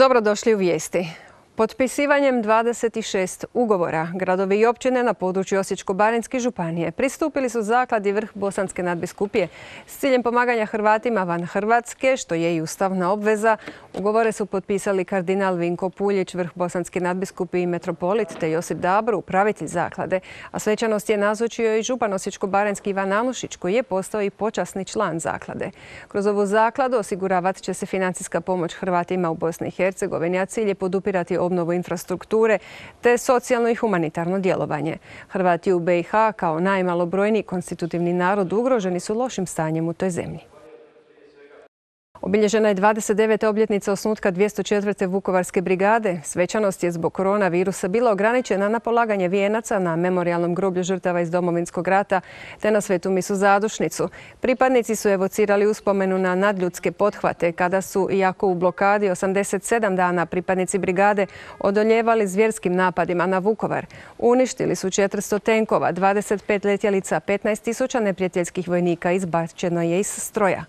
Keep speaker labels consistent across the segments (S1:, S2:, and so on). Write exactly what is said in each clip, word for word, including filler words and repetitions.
S1: Dobrodošli u vijesti. Potpisivanjem dvadeset šest ugovora gradovi i općine na području Osječko-baranjske županije pristupili su zakladi Vrh Bosanske nadbiskupije s ciljem pomaganja Hrvatima van Hrvatske, što je i ustavna obveza. Ugovore su potpisali kardinal Vinko Puljić, Vrh Bosanske nadbiskupije i metropolit, te Josip Dabro, upravitelj zaklade. A svečanost je nazočio i župan Osječko-baranjski Ivan Anušić, koji je postao i počasni član zaklade. Kroz ovu zakladu osiguravat će se financijska pomoć Hrvatima u Bosni i Hercegovini, a cilj je podupirati obnovu infrastrukture te socijalno i humanitarno djelovanje. Hrvati u B i H kao najmalobrojniji konstitutivni narod ugroženi su lošim stanjem u toj zemlji. Obilježena je dvadeset deveta obljetnica osnutka dvjesto četvrte Vukovarske brigade. Svečanost je zbog koronavirusa bila ograničena na polaganje vijenaca na memorijalnom groblju žrtava iz Domovinskog rata te na svetu misu zadušnicu. Pripadnici su evocirali uspomenu na nadljudske pothvate kada su, iako u blokadi osamdeset sedam dana, pripadnici brigade odoljevali zvjerskim napadima na Vukovar. Uništili su četiristo tenkova, dvadeset pet letjelica, petnaest tisuća neprijateljskih vojnika izbačeno je iz stroja.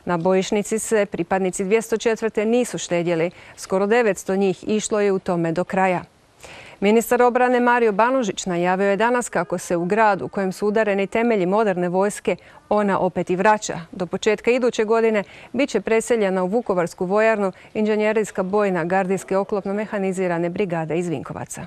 S1: Na bojišnici se pripadnici dvjesto četvrte nisu štedjeli. Skoro devetsto njih išlo je u tome do kraja. Ministar obrane Mario Banožić najavio je danas kako se u gradu u kojem su udareni temelji moderne vojske ona opet i vraća. Do početka iduće godine bit će preseljena u Vukovarsku vojarnu inženjerijska bojna gardijske oklopno mehanizirane brigade iz Vinkovaca.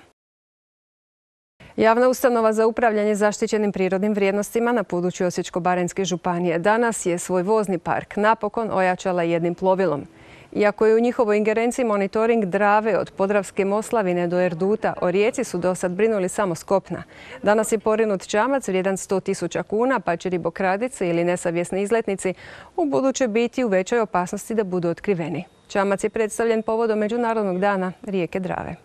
S1: Javna ustanova za upravljanje zaštićenim prirodnim vrijednostima na području Osječko-baranjske županije danas je svoj vozni park napokon ojačala jednim plovilom. Iako je u njihovoj ingerenciji monitoring Drave od Podravske Moslavine do Erduta, o rijeci su dosad brinuli samo s kopna. Danas je porinut čamac vrijedan sto tisuća kuna, pa će ribokradice ili nesavjesni izletnici u buduće biti u većoj opasnosti da budu otkriveni. Čamac je predstavljen povodom Međunarodnog dana rijeke Drave.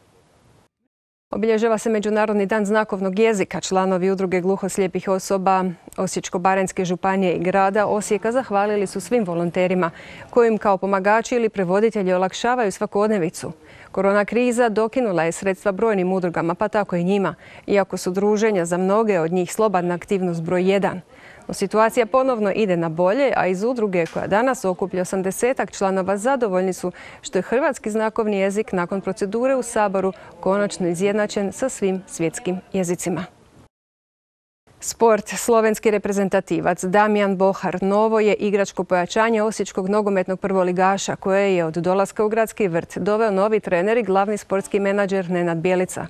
S1: Obilježava se Međunarodni dan znakovnog jezika. Članovi udruge gluhoslijepih osoba Osječko-baranjske županije i grada Osijeka zahvalili su svim volonterima kojim kao pomagači ili prevoditelji olakšavaju svakodnevicu. Korona kriza dokinula je sredstva brojnim udrugama, pa tako i njima, iako su druženja za mnoge od njih slobodna aktivnost broj jedan. No, situacija ponovno ide na bolje, a iz udruge koja danas okuplja osamdesetak članova zadovoljni su što je hrvatski znakovni jezik nakon procedure u Saboru konačno izjednačen sa svim svjetskim jezicima. Sport. Slovenski reprezentativac Damjan Bohar novo je igračko pojačanje osječkog nogometnog prvoligaša koje je od dolaska u Gradski vrt doveo novi trener i glavni sportski menadžer Nenad Bjelica.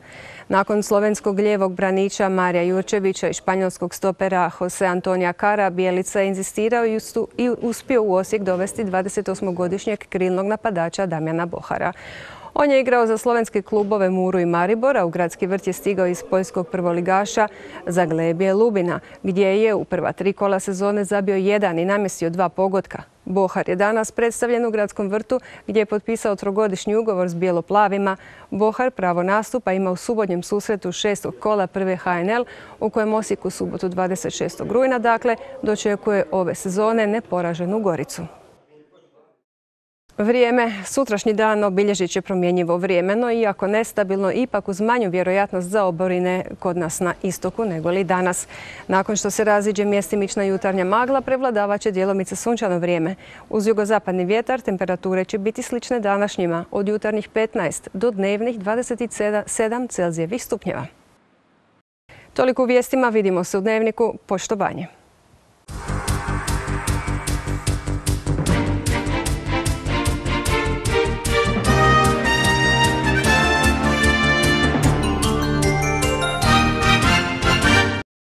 S1: Nakon slovenskog lijevog braniča Marija Jurčevića i španjolskog stopera Jose Antonija Cara, Bjelica je inzistirao i uspio u Osijek dovesti dvadesetosmogodišnjeg krilnog napadača Damjana Bohara. On je igrao za slovenske klubove Muru i Maribora, u Gradski vrt je stigao iz poljskog prvoligaša Zaglebje Lubina, gdje je u prva tri kola sezone zabio jedan i namjestio dva pogotka. Bohar je danas predstavljen u Gradskom vrtu gdje je potpisao trogodišnji ugovor s bijelo-plavima. Bohar pravo nastupa ima u subotnjem susretu šestog kola prve H N L u kojem Osijek u subotu dvadeset šestog rujna dakle dočekuje ove sezone neporaženu Goricu. Vrijeme. Sutrašnji dan obilježit će promjenjivo vrijeme, no iako nestabilno, ipak uz manju vjerojatnost za oborine kod nas na istoku nego li danas. Nakon što se raziđe mjestimična jutarnja magla, prevladavat će djelomice sunčano vrijeme. Uz jugozapadni vjetar temperature će biti slične današnjima, od jutarnjih petnaest do dnevnih dvadeset sedam Celzijevih stupnjeva. Toliko u vijestima, vidimo se u Dnevniku. Poštovanje.